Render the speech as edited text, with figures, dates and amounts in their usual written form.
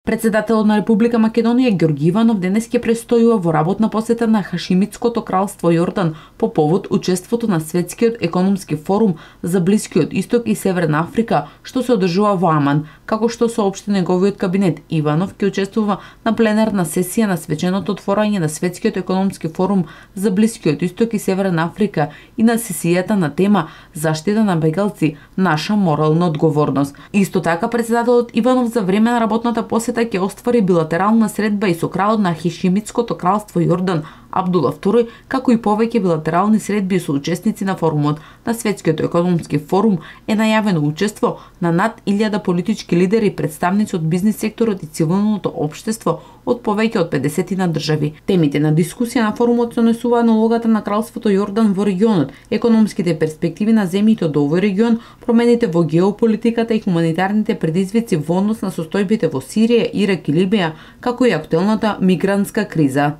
Председателот на Република Македонија Ѓорги Иванов денес ќе престојува во работна посета на Хашимитското кралство Јордан по повод учеството на Светскиот економски форум за Блискиот Исток и Северна Африка, што се одржува во Аман. Како што соопшти неговиот кабинет, Иванов ќе учествува на пленарна сесија на свеченото отворање на Светскиот економски форум за Блискиот Исток и Северна Африка и на сесијата на тема заштита на бегалци, наша морална одговорност. Исто така председателот Иванов за време на работната посета ќе оствари билатерална средба и со кралот на Хашимитското кралство Јордан Абдула II, како и повеќе билатерални средби со учесници на форумот. На Светскиот економски форум е најавено учество на над 1000 политички лидери, представници од бизнис секторот и цивилното општество од повеќе од 50 на држави. Темите на дискусија на форумот се однесуваат на улогата на кралството Јордан во регионот, економските перспективи на земјите од овој регион, промените во геополитиката и хуманитарните предизвици во однос на состојбите во Сирија, Ирак и Либија, како и актуелната мигрантска криза.